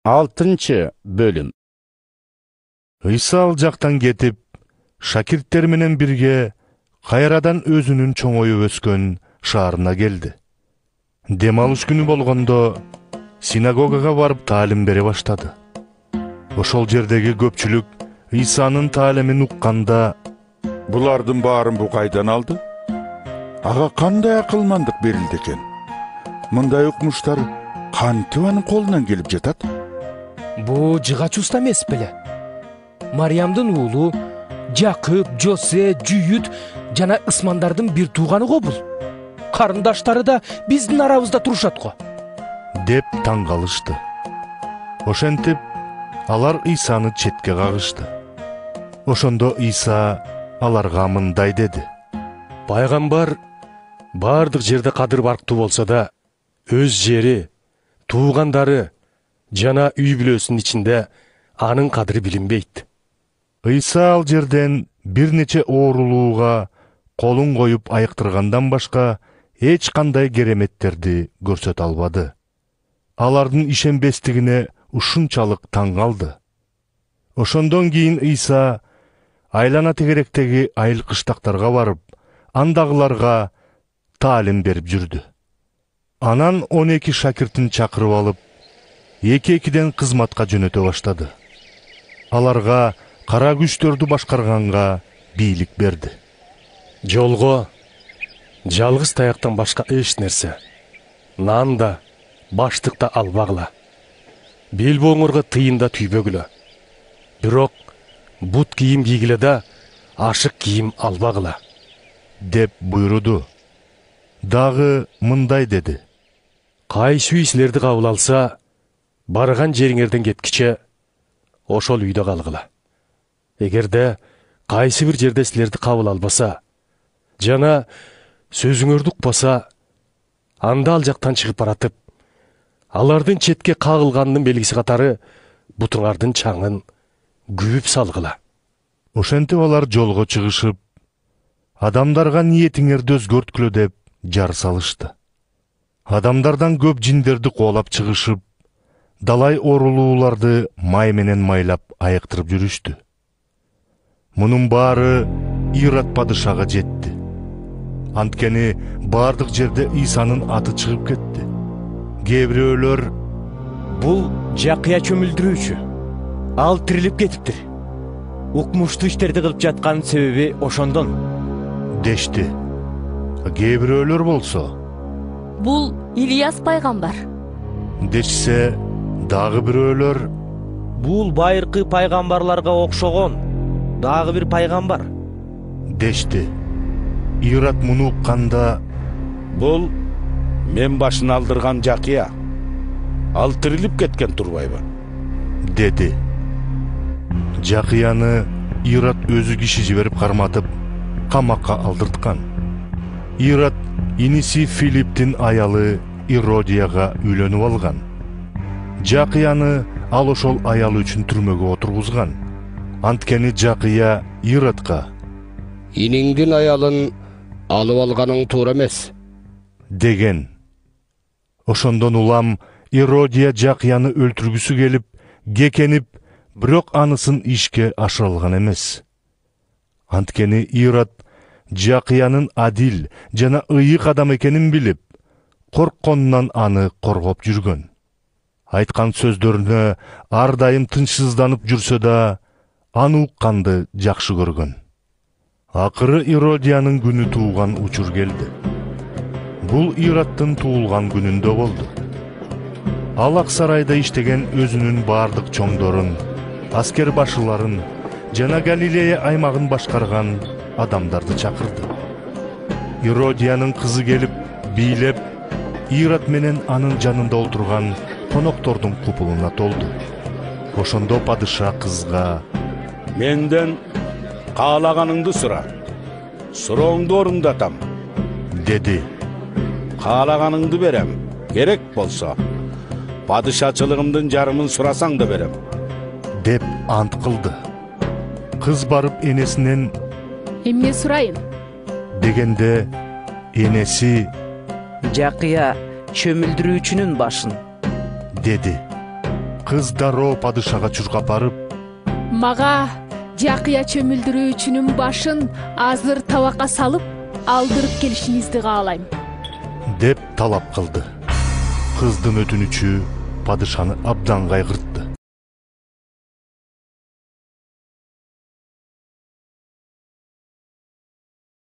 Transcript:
6-бөлүм. Ыйса ал жактан кетип, шакирттер менен бирге кайрадан өзүнүн чоңоюп өскөн шаарына келди. Дем алыш күнү болгондо синагогага барып таалим бере баштады. Ошол жердеги көпчүлүк Ыйсанын таалимин укканда, булардын баарын бу кайдан алды? Ага кандай акылмандык берилди экен? Мындай укмуштар кантип анын колунан келип жатат? Бу жыгач уста эмес беле? Мариямдын уулу Жакып, Жосе, Жүйүт жана ысмандардын бир тууганы го бул. Карындаштары да биздин арабызда турушат го, деп таң калышты. Ошентип алар Ыйсаны четке кагышты. Ошондо Ыйса аларга мындай деди: Пайгамбар бардык жерде кадыр барктуу болсо да, өз жери, туугандары жана үй бүлөсүнүн ичинде анын кадыры билинбейт. Ыйса ал жерден бир нече оорулууга колун коюп айыктыргандан башка эч кандай кереметтерди көрсөтө албады. Алардын ишенбестигине ушунчалык таң калды. Ошондон кийин Ыйса айлана тегеректеги айыл кыштактарга барып, андагыларга таалим берип жүрдү. Анан 12 шакиртин чакырып алып, эки-экиден кызматка жөнөтө баштады. Аларга кара күчтөрдү башкарганга бийлик берди. Жолго жалгыз таяктан башка эч нерсе, нан да, баштык да албагыла. Белбооңорго тыйын да түйбөгүлө. Бирок бут кийим кийгиле да, ашык кийим албагыла, деп буйруду. Дагы мындай деди: Кайсы үй силерди кабыл алса, барган жериңерден кеткиче ошол үйдө калгыла. Эгерде кайсы бир жерде силерди кабыл албаса жана сөзүңөрдү укпаса, анда ал жактан чыгып баратып, алардын четке кагылганынын белгиси катары бутуңардын чаңын күбүп салгыла. Ошентип алар жолго чыгышып, адамдарга ниетиңерди өзгөрткүлө деп жар салышты. Адамдардан көп жиндерди коолап чыгышып, далай оорулууларды май менен майлап айыктырып жүрүштү. Мунун баары Ирод падышага жетти. Анткени бардык жерде Ыйсанын аты чыгып кетти. Кээ бирөөлөр: бул Жакыя чөмүлдүрүүчү, ал тирилип кетиптир. Укмуштуу иштерди кылып жаткан себеби ошондон, дешти. Кээ бирөөлөр болсо: бул Илияс пайгамбар, дешсе, дагы бирөөлөр: бул байыркы пайгамбарларга окшогон дагы бир пайгамбар, дешти. Ирод муну укканда: Бул мен башын алдырган Жакыя. Ал тирилип кеткен турбайбы? деди. Жакыяны Ирод өзү киши жиберип карматып, камакка алдырткан. Ирод иниси Филипптин аялы Иродияга үйлөнүп алган. Жакыяны ал ошол аялы үчүн түрмөгө отургузган. Анткени Жакыя Иродко: Иниңдин аялын алып алганың туура эмес, деген. Ошондон улам Иродия Жакыяны өлтүргүсү келип, кекенип, бирок анысын ишке ашыра алган эмес. Анткени Ирод Жакыянын адил жана ыйык адам экенин билип, коркконунан аны коргоп жүргөн. Айткан сөздөрүнө ар дайым тынчсызданып жүрсө да, аны укканды жакшы көргөн. Акыры Иродиянын күнү тууган учур келди. Бул Ироддун туулган күнүндө болду. Ал ак сарайда иштеген өзүнүн бардык чоңдорун, аскер башыларын жана Галилея аймагын башкарган адамдарды чакырды. Иродиянын кызы келип, бийлеп, Ирод менен анын жанында отурган коноктордун купулуна толду. Ошондо падыша кызга: Менден каалаганыңды сура, сурооңду орундатам, деди. Каалаганыңды берем, керек болсо падышачылыгымдын жарымын сурасаң да берем, деп ант кылды. Кыз барып энесинен: эмне сурайын? дегенде, энеси: Жакыя чөмүлдүрүүчүнүн башын, деди. кыз дароо падышага чуркап барып: Мага жакыя чөмүлдүрүүчүнүн башын азыр табакка салып алдырып келишиңизди каалайм деп талап кылды. Кыздын өтүнүчү падышаны абдан кайгыртты.